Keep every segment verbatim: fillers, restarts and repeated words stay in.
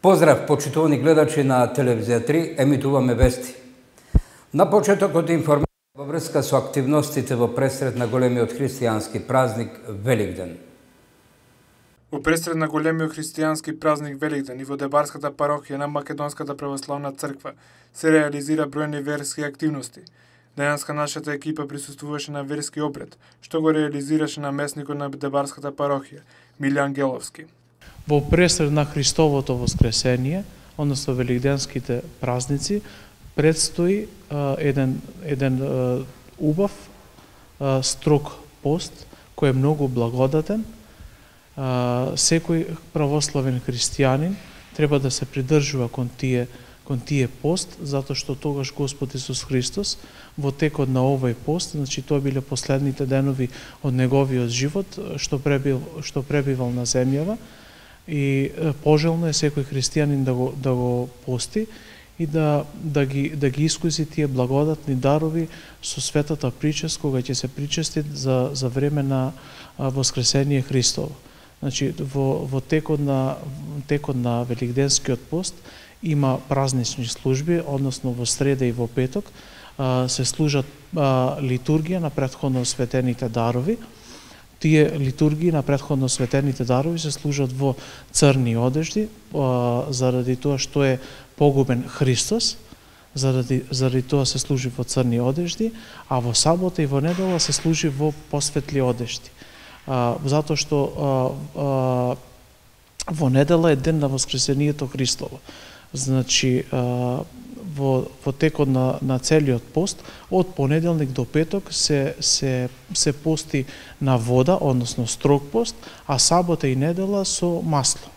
Поздрав, почитувани гледачи на Телевизија три, емитуваме вести. На почетокот информација во врска со активностите во пресред на големиот христијански празник Великден. Во пресред на големиот христијански празник Великден и во Дебарската парохија на Македонската православна црква се реализира бројни верски активности. Денеска нашата екипа присуствуваше на верски обред, што го реализираше наместникот на Дебарската парохија, Милјан Геловски. Во пресред на Христовото воскресение, односно великденските празници, предстои а, еден, еден а, убав, а, строг пост, кој е многу благодатен. А, секој православен христијанин треба да се придржува кон тие, кон тие пост, затоа што тогаш Господ Исус Христос во текот на овој пост, значи тоа биле последните денови од неговиот живот, што пребил, што пребивал на земјава, и пожелно е секој христијанин да го да го пости и да да ги да ги искуси тие благодатни дарови со светата причест кога ќе се причести за за време на воскресение Христово. Значи во во текот на текот на великденскиот пост има празнични служби, односно во среда и во петок се служат литургија на претходно светените дарови. Тие литургии на претходно светените дарови се служат во црни одежди, заради тоа што е погубен Христос, заради, заради тоа се служи во црни одежди, а во сабота и во недела се служи во посветли одежди. Затоа што а, а, во недела е ден на воскресението Христово. Значи, а, во, во текот на, на целиот пост, од понеделник до петок се, се, се пости на вода, односно строг пост, а сабота и недела со масло.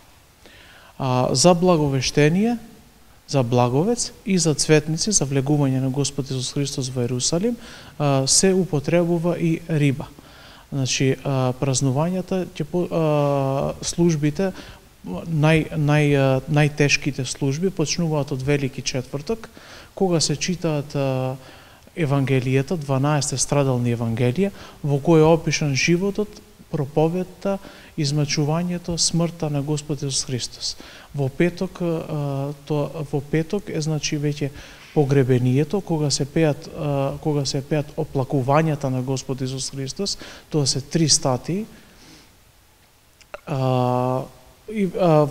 А, за благовештение, за благовец и за цветници, за влегување на Господ Исус Христос во Ерусалим, а, се употребува и риба. Значи, а, празнувањата, а, службите, Нај, нај, најтешките служби почнуваат од Велики четврток, кога се читаат Евангелијата, дванаесет страдални Евангелија, во кој е опишан животот, проповедта, измачувањето, смртта на Господ Исус Христос. Во петок, то, во петок е значи веќе погребението, кога се пеат, кога се пеат оплакувањата на Господ Исус Христос, тоа се три статии. И, а,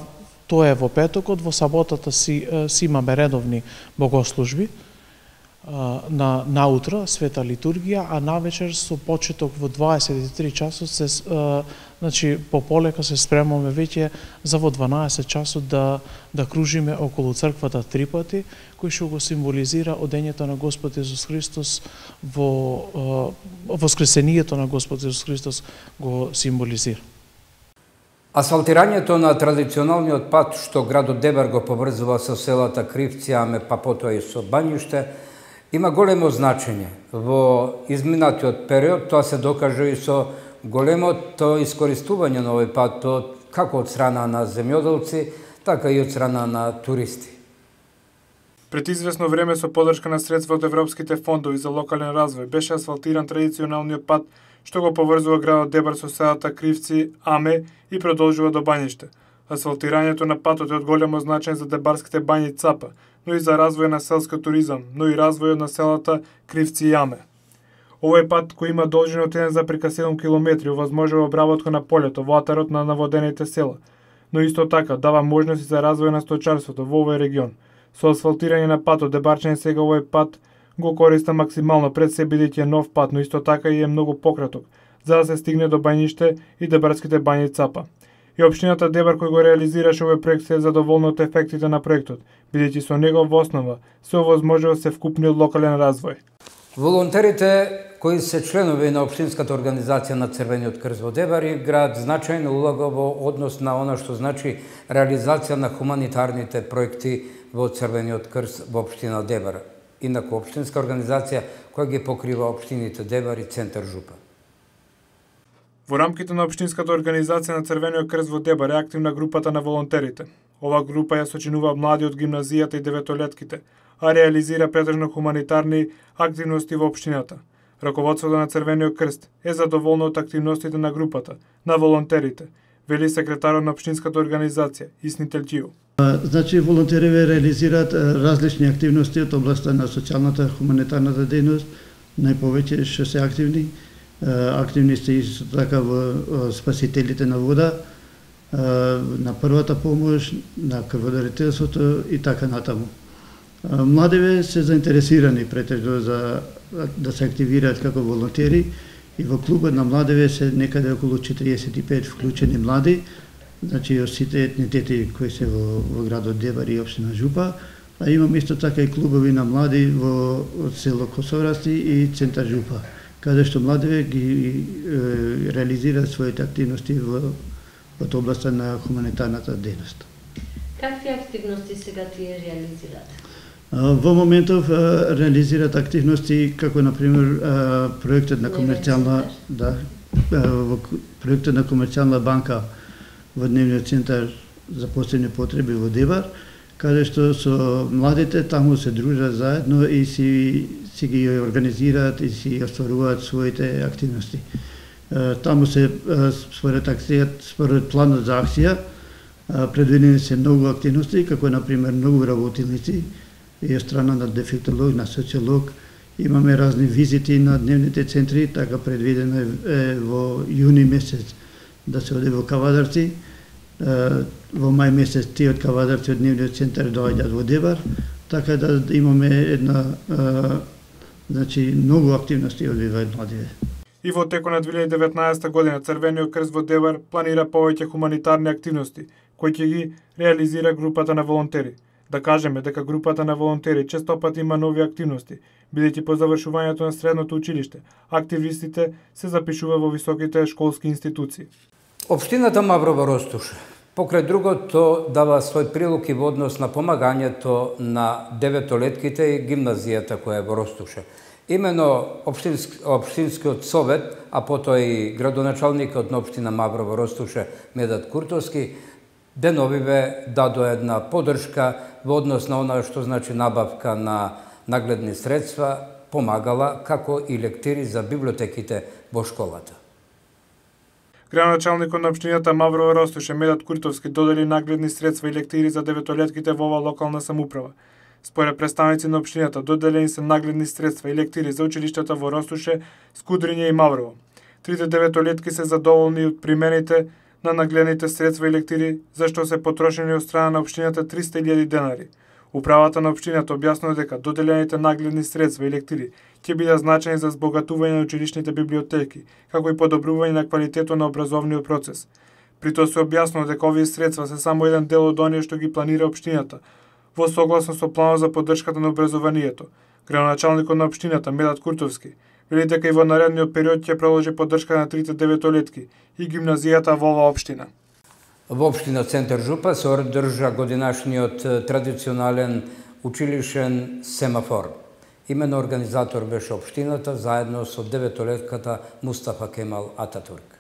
тоа е во петокот, во саботата си, си имаме редовни богослужби, а, на наутро света литургија, а навечер со почеток во дваесет и три часот се а, значи пополека се спремаме веќе за во дванаесет часот да да кружиме околу црквата три пати, кој што го символизира одењето на Господ Исус Христос во а, воскресението на Господ Исус Христос го символизира. Асфалтирањето на традиционалниот пат што градот Дебар го поврзува со селата Кривци, Аме, па потоа и со Бањуште, има големо значење. Во изминатиот период тоа се докаже и со големото искористување на овој пат, како од страна на земјоделци, така и од страна на туристи. Пред известно време со поддршка на средства од европските фондови за локален развој беше асфалтиран традиционалниот пат што го поврзува градот Дебар со селата Кривци, Аме и продолжува до Бањиште. Асфалтирањето на патот е од големо значење за дебарските бањи и Цапа, но и за развој на селски туризам, но и развојот на селата Кривци и Аме. Овој пат, кој има должина од еден запирка седум километри, овозможува обработка на полето во атарот на наводените села, но исто така дава можности за развој на сточарството во овој регион. Со асфалтирање на патот, дебарчани сега овој пат го користа максимално пред се бидејќи е нов пат, но исто така и е многу пократок, за да се стигне до Бањиште и дебарските бањи Цапа. И општината Дебар кој го реализираше овој проект се е задоволна од ефектите на проектот, бидејќи со него во основа се овозможува се вкупниот локален развој. Волонтерите кои се членови на општинската организација на Црвениот крст во Дебар играат значајна улога во однос на она што значи реализација на хуманитарните проекти во Црвениот крст во општина Дебар. Инаку општинска организација која ги покрива општините Дебар и Центар Жупа. Во рамките на општинската организација на Црвениот крст во Дебар е активна групата на волонтерите. Ова група ја сочинува млади од гимназијата и деветолетките, а реализира претежно хуманитарни активности во општината. Раководството на Црвениот крст е задоволно од активностите на групата, на волонтерите, вели секретарот на општинската организација Исни Телтију. Значи, волонтерите реализираат различни активности од областта на социјалната, хуманитарната дејност, најповеќе што се активни. Активни сте исто така во спасителите на вода, на првата помош, на крводарителството и така натаму. Младиве се заинтересирани претежно за да се активираат како волонтери и во клубот на младиве се некаде околу четириесет и пет вклучени млади, значи од сите етнитети кои се во, во градот Дебар и општина Жупа, а имам исто така и клубови на млади во од село Косоврасти и центар Жупа, каде што младиве ги е, реализираат своите активности во од областта на хуманитарната дејност. Какви активности сега тие реализираат? Во моментов реализираат активности како на пример проектот на комерцијална да во проектот на комерцијална банка во дневниот центар за посебни потреби во Дебар, каде што со младите таму се дружат заедно и си си ги организираат и си остваруваат своите активности. Таму се според акцијата, според планот за акција предвидени се многу активности, како на пример многу работилници и од страна на дефектолог, на социолог. Имаме разни визити на дневните центри, така предвидено е во јуни месец да се оде во Кавадарци. Во мај месец тие од Кавадарци од дневниот центар доаѓаат во Дебар, така да имаме една значи многу активности одвиваат младиве. И во текот на две илјади и деветнаесетта година Црвениот крст во Дебар планира повеќе хуманитарни активности, кои ќе ги реализира групата на волонтери. Да кажеме дека групата на волонтери честопат има нови активности, бидејќи по завршувањето на средното училиште, активистите се запишува во високите школски институции. Општината Маврово Ростуше, покрај другото, дава свој прилог и во однос на помагањето на деветолетките и гимназијата која е во Ростуше. Имено Обштински, Обштинскиот совет, а потоа и градоначалникот на општина Маврово Ростуше Медат Куртовски, деновиве дадо една поддршка во однос на она што значи набавка на нагледни средства, помагала како и лектири за библиотеките во школата. Градоначалникот на општината Маврово Ростуше Медат Куртовски додели нагледни средства и лектири за деветолетките во ова локална самоуправа. Според представници на општината, доделени се нагледни средства и лектири за училиштата во Ростуше, Скудриње и Маврово. Трите деветолетки се задоволни од примените на нагледните средства и лектири, зашто се потрошени од страна на општината триста илјади денари. Управата на општината објаснува дека доделените нагледни средства и лектири ќе бидат значени за збогатување на училишните библиотеки, како и подобрување на квалитетот на образовниот процес. При тоа се објаснува дека овие средства се само еден дел од оние што ги планира општината, во согласно со планот за поддршката на образованието. Градоначалникот на општината Медат Куртовски вели дека и во наредниот период ќе продолжи поддршка на трите деветолетки и гимназијата во оваа општина. Во општина Центар Жупа се одржа годинашниот традиционален училишен семафор. Имено организатор беше општината заедно со деветолетката Мустафа Кемал Ататурк.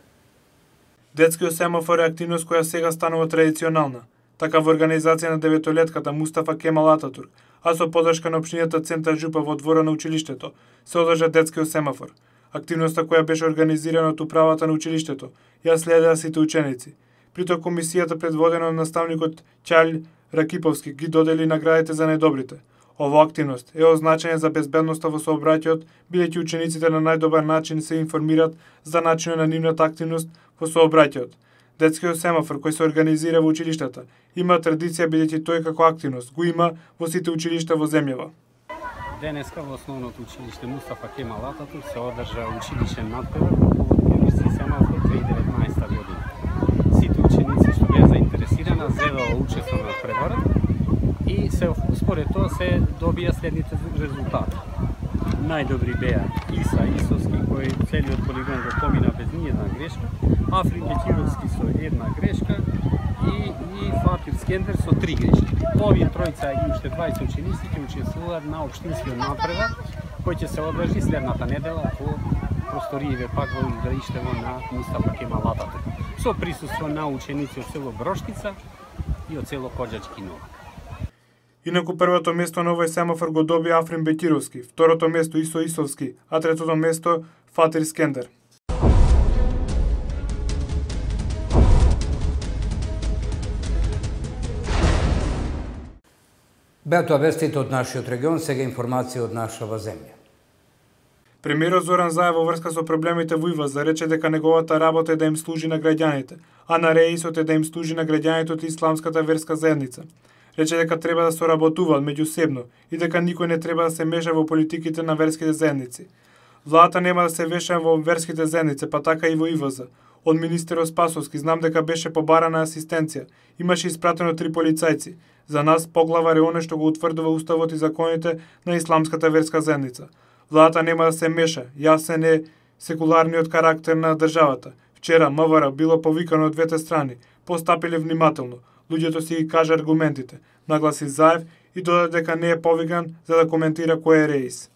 Детскиот семафор е активност која сега станува традиционална. Така во организација на деветолетката Мустафа Кемал Ататурк, а со поддршка на општината Центар Жупа во двора на училиштето, се одржа детскиот семафор. Активноста која беше организирана од управата на училиштето, ја следеа сите ученици. Притоа комисијата предводена од наставникот Ќалј Ракиповски ги додели наградите за најдобрите. Ова активност е означена за безбедноста во сообраќајот, бидејќи учениците на најдобар начин се информираат за начинот на нивната активност во сообраќајот. Детскиот семафор кој се организира во училиштата има традиција бидејќи тој како активност го има во сите училишта во земјава. Денеска во основното училиште Мустафа Кемал Ататурк се одржа училишен надпревар по повод Георгиски семафор две илјади и деветнаесетта година. Сите ученици што беа заинтересирани зедоа учество на преварот и се според тоа се добија следните резултати. Најдобри беа Иса Исовски кој целиот полигон го помина без ниедна грешка, Африн Бекировски со една грешка и, и Фатир Скендер со три грешки. Овие тројца и уште дваесет ученици ќе учествуваат на општинскиот надпревар кој ќе се одржи следната недела во просториите пак во игралиштето на Мустафа Кемал Ататурк со присуство на ученици од село Броштица и од село Коџачки Новак. Инаку првото место на овој семафор го доби Африн Бекировски, второто место Исо Исовски, а третото место Фатир Скендер. Беа тоа вестите од нашиот регион, сега информација од нашава земја. Премиерот Зоран Заев во врска со проблемите во ИВАЗ рече дека неговата работа е да им служи на граѓаните, а на реисот е да им служи на граѓаните од исламската верска заедница. Рече дека треба да соработуваат меѓусебно и дека никој не треба да се меша во политиките на верските заедници. Владата нема да се веша во верските заедници, па така и во ИВАЗ. Од министерот Спасовски знам дека беше побарана асистенција. Имаше испратено три полицајци. За нас поглавар е оне што го утврдува уставот и законите на исламската верска заедница. Владата нема да се меша, јасен е секуларниот карактер на државата. Вчера МВР било повикано од двете страни, постапиле внимателно. Луѓето си ги кажа аргументите, нагласи Заев и додаде дека не е повикан за да коментира кој е реис.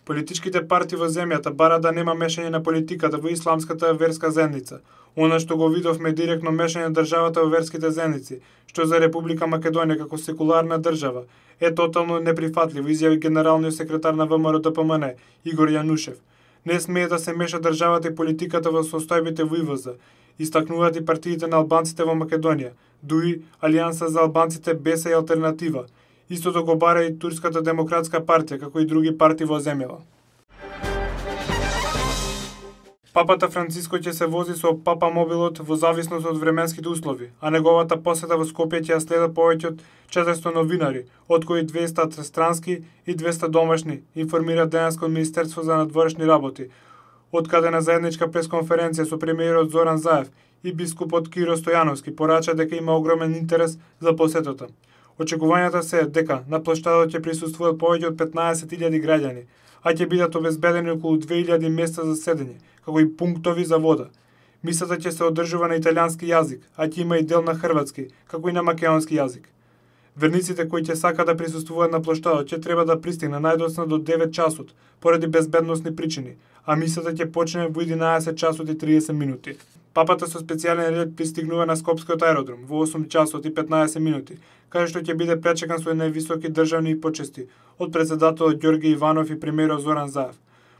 Политичките партии во земјата бара да нема мешање на политиката во исламската верска заедница. Она што го видовме директно мешање на државата во верските заедници, што за Република Македонија како секуларна држава е тотално неприфатливо, изјави генералниот секретар на ВМРО Д П М Н Игор Јанушев. Не смее да се меша државата и политиката во состојбите во ИВАЗ, истакнуваат и партиите на албанците во Македонија, ДУИ, Алијанса за албанците БЕСА и Алтернатива. Истото го бара и Турската демократска партија, како и други партии во земјава. Папата Франциско ќе се вози со Папа мобилот во зависност од временските услови, а неговата посета во Скопје ќе ја следат повеќе од четиристотини новинари, од кои двеста странски и двеста домашни, информира денеска од Министерство за надворешни работи, од каде на заедничка пресконференција со премиерот Зоран Заев и бискупот Киро Стојановски порача дека има огромен интерес за посетата. Очекувањата се дека на плоштадот ќе присуствуваат повеќе од петнаесет илјади граѓани, а ќе бидат обезбедени околу две илјади места за седење, како и пунктови за вода. Мисата ќе се одржува на италијански јазик, а ќе има и дел на хрватски, како и на македонски јазик. Верниците кои ќе сакаат да присуствуваат на плоштадот ќе треба да пристигнат најдоцна до девет часот, поради безбедносни причини, а мисата ќе почне во единаесет часот и триесет минути. Папата со специјален ред пристигнува на Скопскиот аеродром во осум часот и петнаесет минути, каде што ќе биде пречекан со највисоки државни почести од председателот Ѓорги Иванов и премиерот Зоран Заев.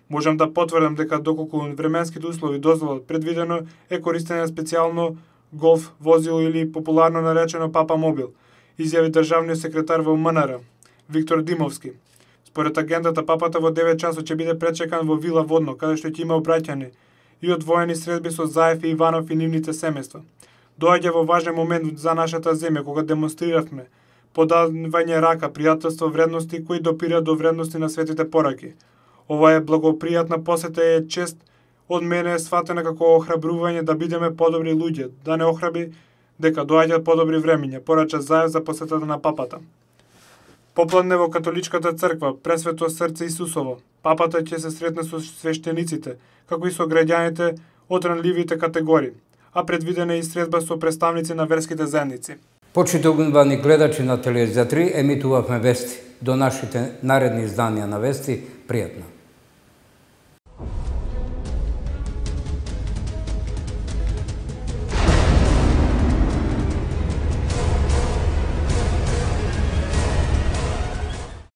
Можам да потврдам дека доколку временските услови дозволат, предвидено е користење специјално голф возило или популарно наречено Папа мобил, изјави државниот секретар во М Н Р Виктор Димовски. Според агендата, папата во девет часот ќе биде пречекан во Вила Водно, каде што ќе има обраќање и одвоени средби со Заев и Иванов и нивните семејства. Доаѓа во важен момент за нашата земја, кога демонстриравме подавање рака, пријателство, вредности кои допираат до вредности на светите пораки. Ова е благопријатна посета и е чест од мене е сватена како охрабрување да бидеме подобри луѓе, да не охраби дека доаѓаат подобри времиња, порача Заев за посетата на папата. Попладне во католичката црква, Пресвето срце Исусово, папата ќе се сретне со свештениците, како и со граѓаните од ранливите категории, а предвидена е и средба со представници на верските заедници. Почитувани гледачи на Телевизија три, емитувавме вести. До нашите наредни изданија на вести, пријатно.